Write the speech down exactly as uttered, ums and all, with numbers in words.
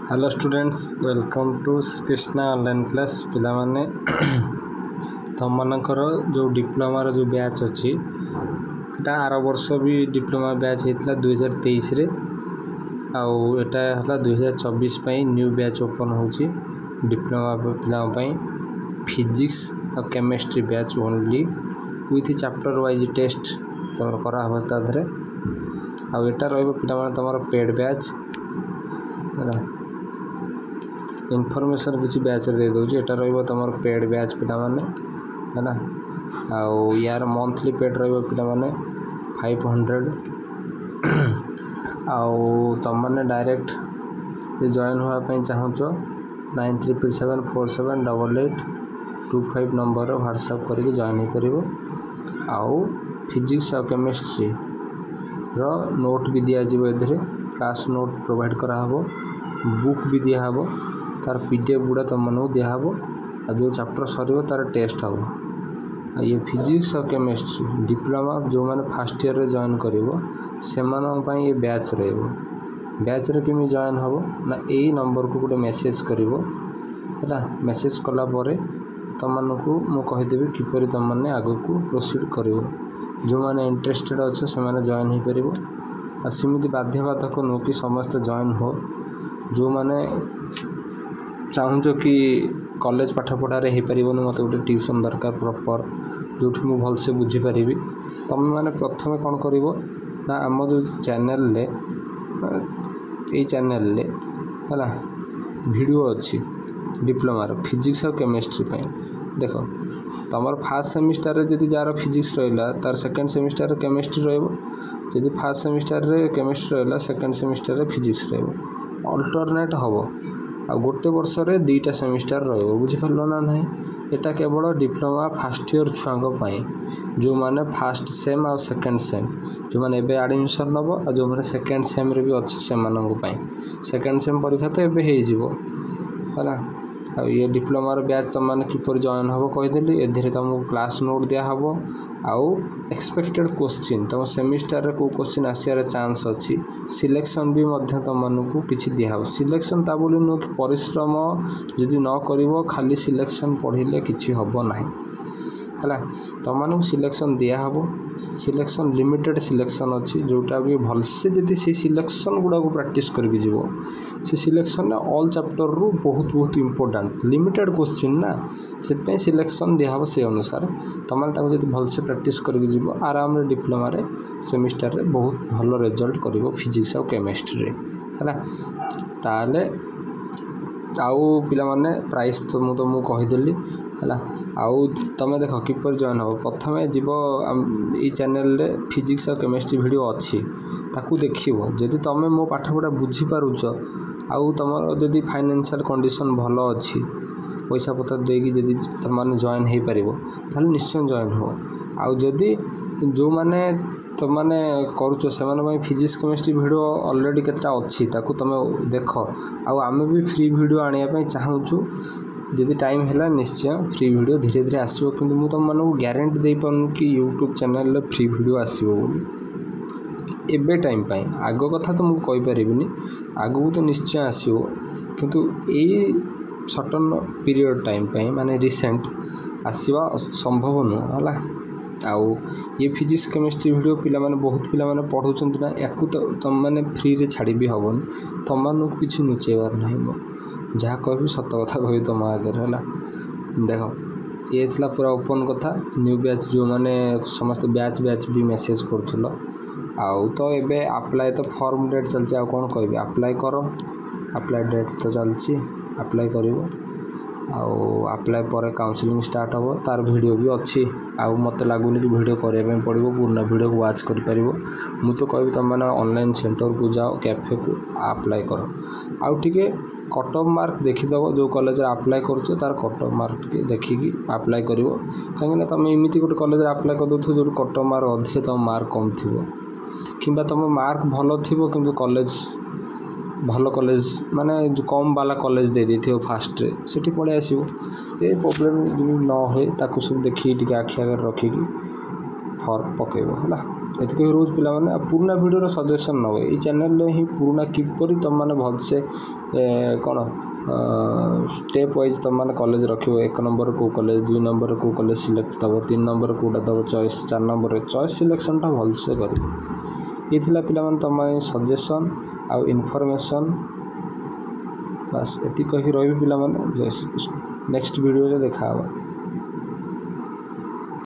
Hello students, welcome to Shrikrishna online class. ପିଲାମାନେ, ତୁମମାନଙ୍କର ଯେଉଁ ଡିପ୍ଲୋମାର ଯେଉଁ ବ୍ୟାଚ୍ ଅଛି, ଏଇଟା ଆର ବର୍ଷ ବି ଡିପ୍ଲୋମା ବ୍ୟାଚ୍ ହେଇଥିଲା ଦୁଇହଜାର ତେଇଶରେ, ଆଉ ଏଇଟା ହେଲା ଦୁଇହଜାର ଚବିଶ ପାଇଁ ନ୍ୟୁ ବ୍ୟାଚ୍ ଓପନ୍ ହେଉଛି ଡିପ୍ଲୋମା ପିଲାଙ୍କ ପାଇଁ। ଫିଜିକ୍ସ ଆଉ chemistry batch only, with chapter wise test ତୁମର କରାହେବ ତା ଦେହରେ। ଆଉ ଏଇଟା ରହିବ ପିଲାମାନେ ତୁମର ପେଡ଼୍ ବ୍ୟାଚ୍, ହେଲା। ଇନଫର୍ମେସନ୍ କିଛି ବ୍ୟାଚ୍ରେ ଦେଇଦେଉଛି। ଏଇଟା ରହିବ ତୁମର ପେଡ଼୍ ବ୍ୟାଚ୍ ପିଲାମାନେ, ହେଲା। ଆଉ ୟାର ମନ୍ଥଲି ପେଡ଼୍ ରହିବ ପିଲାମାନେ ଫାଇଭ୍ ହଣ୍ଡ୍ରେଡ଼। ଆଉ ତୁମମାନେ ଡାଇରେକ୍ଟ ଜଏନ୍ ହେବା ପାଇଁ ଚାହୁଁଛ, nine triple seven four seven double eight two five ନମ୍ବରରେ ହ୍ୱାଟ୍ସଆପ୍ କରିକି ଜଏନ୍ ହେଇପାରିବ। ଆଉ ଫିଜିକ୍ସ ଆଉ କେମିଷ୍ଟ୍ରିର ନୋଟ୍ ବି ଦିଆଯିବ ଏଥିରେ। କ୍ଲାସ୍ ନୋଟ୍ ପ୍ରୋଭାଇଡ଼ କରାହେବ, ବୁକ୍ ବି ଦିଆହେବ, ତାର ପି ଡି ଏଫ୍ ଗୁଡ଼ା ତୁମମାନଙ୍କୁ ଦିଆହେବ। ଆଉ ଯେଉଁ ଚାପ୍ଟର ସରିବ, ତାର ଟେଷ୍ଟ ହେବ। ଆଉ ଇଏ ଫିଜିକ୍ସ ଆଉ କେମିଷ୍ଟ୍ରି ଡିପ୍ଲୋମା ଯେଉଁମାନେ ଫାର୍ଷ୍ଟ ଇୟର୍ରେ ଜଏନ୍ କରିବ, ସେମାନଙ୍କ ପାଇଁ ଏ ବ୍ୟାଚ୍ ରହିବ। ବ୍ୟାଚ୍ରେ କେମିତି ଜଏନ୍ ହେବ ନା, ଏଇ ନମ୍ବରକୁ ଗୋଟେ ମେସେଜ୍ କରିବ, ହେଲା। ମେସେଜ୍ କଲା ପରେ ତୁମମାନଙ୍କୁ ମୁଁ କହିଦେବି କିପରି ତୁମମାନେ ଆଗକୁ ପ୍ରୋସିଡ଼୍ କରିବ। ଯେଉଁମାନେ ଇଣ୍ଟରେଷ୍ଟେଡ଼୍ ଅଛ, ସେମାନେ ଜଏନ୍ ହେଇପାରିବ। ଆଉ ସେମିତି ବାଧ୍ୟବାଧକ ନୁହଁ କି ସମସ୍ତେ ଜଏନ୍ ହୁଅ। ଯେଉଁମାନେ ଚାହୁଁଛ କି କଲେଜ ପାଠପଢ଼ାରେ ହେଇପାରିବନି, ମୋତେ ଗୋଟେ ଟ୍ୟୁସନ୍ ଦରକାର ପ୍ରପର୍, ଯେଉଁଠି ମୁଁ ଭଲସେ ବୁଝିପାରିବି, ତୁମେମାନେ ପ୍ରଥମେ କ'ଣ କରିବ ନା, ଆମ ଯେଉଁ ଚ୍ୟାନେଲରେ, ଏଇ ଚ୍ୟାନେଲରେ, ହେଲା, ଭିଡ଼ିଓ ଅଛି ଡିପ୍ଲୋମାର ଫିଜିକ୍ସ ଆଉ କେମିଷ୍ଟ୍ରି ପାଇଁ। ଦେଖ, ତୁମର ଫାର୍ଷ୍ଟ ସେମିଷ୍ଟାରରେ ଯଦି ଯାହାର ଫିଜିକ୍ସ ରହିଲା, ତାର ସେକେଣ୍ଡ ସେମିଷ୍ଟାରରେ କେମିଷ୍ଟ୍ରି ରହିବ। ଯଦି ଫାର୍ଷ୍ଟ ସେମିଷ୍ଟାରରେ କେମିଷ୍ଟ୍ରି ରହିଲା, ସେକେଣ୍ଡ ସେମିଷ୍ଟାରରେ ଫିଜିକ୍ସ ରହିବ। ଅଲ୍ଟରନେଟ୍ ହେବ। ଆଉ ଗୋଟେ ବର୍ଷରେ ଦୁଇଟା ସେମିଷ୍ଟାର ରହିବ। ବୁଝିପାରିଲ ନା ନାହିଁ? ଏଇଟା କେବଳ ଡିପ୍ଲୋମା ଫାର୍ଷ୍ଟ ଇୟର୍ ଛୁଆଙ୍କ ପାଇଁ, ଯେଉଁମାନେ ଫାର୍ଷ୍ଟ ସେମ୍ ଆଉ ସେକେଣ୍ଡ ସେମ୍, ଯେଉଁମାନେ ଏବେ ଆଡ଼ମିସନ୍ ନେବ ଆଉ ଯେଉଁମାନେ ସେକେଣ୍ଡ ସେମ୍ରେ ବି ଅଛି ସେମାନଙ୍କ ପାଇଁ। ସେକେଣ୍ଡ ସେମ୍ ପରୀକ୍ଷା ତ ଏବେ ହେଇଯିବ, ହେଲା। ଆଉ ଇଏ ଡିପ୍ଲୋମାର ବ୍ୟାଚ୍ ତୁମମାନେ କିପରି ଜଏନ୍ ହେବ କହିଦେଲି। ଏଥିରେ ତୁମକୁ କ୍ଲାସ୍ ନୋଟ୍ ଦିଆହେବ ଆଉ ଏକ୍ସପେକ୍ଟେଡ଼ କୋଶ୍ଚିନ୍, ତୁମ ସେମିଷ୍ଟାରରେ କେଉଁ କୋଶ୍ଚିନ୍ ଆସିବାର ଚାନ୍ସ ଅଛି, ସିଲେକ୍ସନ୍ ବି ମଧ୍ୟ ତୁମମାନଙ୍କୁ କିଛି ଦିଆହେବ। ସିଲେକ୍ସନ୍ ତା ବୋଲି ନୁହଁ କି ପରିଶ୍ରମ ଯଦି ନ କରିବ, ଖାଲି ସିଲେକ୍ସନ୍ ପଢ଼ିଲେ କିଛି ହେବ ନାହିଁ, ହେଲା। ତୁମମାନଙ୍କୁ ସିଲେକ୍ସନ୍ ଦିଆହେବ। ସିଲେକ୍ସନ୍ ଲିମିଟେଡ଼ ସିଲେକ୍ସନ୍ ଅଛି, ଯେଉଁଟା ବି ଭଲସେ ଯଦି ସେଇ ସିଲେକ୍ସନ୍ ଗୁଡ଼ାକୁ ପ୍ରାକ୍ଟିସ୍ କରିକି ଯିବ, ସେ ସିଲେକ୍ସନ୍ରେ ଅଲ୍ ଚାପ୍ଟରରୁ ବହୁତ ବହୁତ ଇମ୍ପୋର୍ଟାଣ୍ଟ ଲିମିଟେଡ଼ କୋଶ୍ଚିନ୍ ନା, ସେଥିପାଇଁ ସିଲେକ୍ସନ୍ ଦିଆହେବ। ସେଇ ଅନୁସାରେ ତୁମେ ତାକୁ ଯଦି ଭଲସେ ପ୍ରାକ୍ଟିସ୍ କରିକି ଯିବ, ଆରାମରେ ଡିପ୍ଲୋମାରେ ସେମିଷ୍ଟାରରେ ବହୁତ ଭଲ ରେଜଲ୍ଟ କରିବ ଫିଜିକ୍ସ ଆଉ କେମିଷ୍ଟ୍ରିରେ, ହେଲା। ତାହେଲେ ଆଉ ପିଲାମାନେ, ପ୍ରାଇସ୍ ତ ମୁଁ ତୁମକୁ କହିଦେଲି, ହେଲା। ଆଉ ତୁମେ ଦେଖ କିପରି ଜଏନ୍ ହେବ। ପ୍ରଥମେ ଯିବ, ଏଇ ଚ୍ୟାନେଲରେ ଫିଜିକ୍ସ ଆଉ କେମିଷ୍ଟ୍ରି ଭିଡ଼ିଓ ଅଛି, ତାକୁ ଦେଖିବ। ଯଦି ତୁମେ ମୋ ପାଠପଢ଼ା ବୁଝିପାରୁଛ ଆଉ ତୁମର ଯଦି ଫାଇନାନ୍ସିଆଲ୍ କଣ୍ଡିସନ୍ ଭଲ ଅଛି, ପଇସା ପତ୍ର ଦେଇକି ଯଦି ତୁମମାନେ ଜଏନ୍ ହେଇପାରିବ, ତାହେଲେ ନିଶ୍ଚୟ ଜଏନ୍ ହୁଅ। ଆଉ ଯଦି ଯେଉଁମାନେ ତୁମମାନେ କରୁଛ, ସେମାନଙ୍କ ପାଇଁ ଫିଜିକ୍ସ କେମିଷ୍ଟ୍ରି ଭିଡ଼ିଓ ଅଲରେଡ଼ି କେତେଟା ଅଛି, ତାକୁ ତୁମେ ଦେଖ। ଆଉ ଆମେ ବି ଫ୍ରି ଭିଡ଼ିଓ ଆଣିବା ପାଇଁ ଚାହୁଁଛୁ। ଯଦି ଟାଇମ୍ ହେଲା, ନିଶ୍ଚୟ ଫ୍ରି ଭିଡ଼ିଓ ଧୀରେ ଧୀରେ ଆସିବ। କିନ୍ତୁ ମୁଁ ତୁମମାନଙ୍କୁ ଗ୍ୟାରେଣ୍ଟି ଦେଇପାରୁନି କି ୟୁଟ୍ୟୁବ୍ ଚ୍ୟାନେଲରେ ଫ୍ରି ଭିଡ଼ିଓ ଆସିବ ବୋଲି ଏବେ ଟାଇମ୍ ପାଇଁ। ଆଗ କଥା ତ ମୁଁ କହିପାରିବିନି। ଆଗକୁ ତ ନିଶ୍ଚୟ ଆସିବ, କିନ୍ତୁ ଏଇ ସର୍ଟନ୍ ପିରିୟଡ଼ ଟାଇମ୍ ପାଇଁ, ମାନେ ରିସେଣ୍ଟ ଆସିବା ସମ୍ଭବ ନୁହଁ, ହେଲା। ଆଉ ଇଏ ଫିଜିକ୍ସ କେମିଷ୍ଟ୍ରି ଭିଡ଼ିଓ ପିଲାମାନେ, ବହୁତ ପିଲାମାନେ ପଢ଼ୁଛନ୍ତି ନା, ୟାକୁ ତ ତୁମମାନେ ଫ୍ରିରେ ଛାଡ଼ି ବି ହେବନି। ତୁମମାନଙ୍କୁ କିଛି ଲୁଚେଇବାର ନାହିଁ। ମୁଁ ଯାହା କହିବି, ସତ କଥା କହିବି ତୁମ ଆଗରେ, ହେଲା। ଦେଖ, ଇଏ ଥିଲା ପୁରା ଓପନ୍ କଥା। ନ୍ୟୁ ବ୍ୟାଚ୍ ଯେଉଁମାନେ ସମସ୍ତେ ବ୍ୟାଚ୍ ବ୍ୟାଚ୍ ବି ମେସେଜ୍ କରୁଥିଲ, ଆଉ ତ ଏବେ ଆପ୍ଲାଏ ତ ଫର୍ମ ଡେଟ୍ ଚାଲିଛି। ଆଉ କ'ଣ କହିବି? ଆପ୍ଲାଏ କର। ଆପ୍ଲାଏ ଡେଟ୍ ତ ଚାଲିଛି, ଆପ୍ଲାଏ କରିବ। ଆଉ ଆପ୍ଲାଏ ପରେ କାଉନସିଲିଂ ଷ୍ଟାର୍ଟ ହେବ, ତାର ଭିଡ଼ିଓ ବି ଅଛି। ଆଉ ମୋତେ ଲାଗୁନି କି ଭିଡ଼ିଓ କରିବା ପାଇଁ ପଡ଼ିବ। ପୁରୁଣା ଭିଡ଼ିଓକୁ ୱାଚ୍ କରିପାରିବ। ମୁଁ ତ କହିବି, ତୁମେମାନେ ଅନଲାଇନ୍ ସେଣ୍ଟରକୁ ଯାଅ, କ୍ୟାଫେକୁ, ଆପ୍ଲାଏ କର। ଆଉ ଟିକେ କଟ୍ ଅଫ୍ ମାର୍କ ଦେଖିଦେବ। ଯେଉଁ କଲେଜରେ ଆପ୍ଲାଏ କରୁଛ, ତାର କଟ୍ ଅଫ୍ ମାର୍କ ଟିକେ ଦେଖିକି ଆପ୍ଲାଏ କରିବ। କାହିଁକିନା ତୁମେ ଏମିତି ଗୋଟେ କଲେଜରେ ଆପ୍ଲାଏ କରିଦେଉଥିବ ଯେଉଁଠି କଟ୍ ଅଫ୍ ମାର୍କ ଅଧିକ, ତୁମ ମାର୍କ କମ୍ ଥିବ, କିମ୍ବା ତୁମ ମାର୍କ ଭଲ ଥିବ କିନ୍ତୁ କଲେଜ ଭଲ କଲେଜ, ମାନେ କମ୍ ବାଲା କଲେଜ ଦେଇଦେଇଥିବ ଫାର୍ଷ୍ଟରେ, ସେଠି ପଳେଇ ଆସିବ। ଏ ପ୍ରୋବ୍ଲେମ୍ ଯେମିତି ନ ହୁଏ, ତାକୁ ସବୁ ଦେଖିକି ଟିକେ ଆଖି ଆଗରେ ରଖିକି ଫର୍ମ ପକାଇବ, ହେଲା। ଏତିକି ରହୁଛି ପିଲାମାନେ ଆଉ ପୁରୁଣା ଭିଡ଼ିଓର ସଜେସନ୍ ନେବ ଏଇ ଚ୍ୟାନେଲ୍ରେ ହିଁ ପୁରୁଣା କିପରି ତୁମମାନେ ଭଲସେ କ'ଣ ଷ୍ଟେପ୍ ୱାଇଜ୍ ତୁମମାନେ କଲେଜ ରଖିବ ଏକ ନମ୍ବର କେଉଁ କଲେଜ ଦୁଇ ନମ୍ବର କେଉଁ କଲେଜ ସିଲେକ୍ଟ ଦେବ ତିନି ନମ୍ବର କେଉଁଟା ଦେବ ଚଏସ୍ ଚାରି ନମ୍ବରରେ ଚଏସ୍ ସିଲେକ୍ସନ୍ଟା ଭଲସେ କରିବ ଇଏ ଥିଲା ପିଲାମାନେ ତୁମ ପାଇଁ ସଜେସନ୍ ଆଉ ଇନଫର୍ମେସନ୍ ବାସ୍ ଏତିକି କହିକି ରହିବି ପିଲାମାନେ ଜୟ ଶ୍ରୀକୃଷ୍ଣ ନେକ୍ସଟ ଭିଡ଼ିଓରେ ଦେଖା ହେବା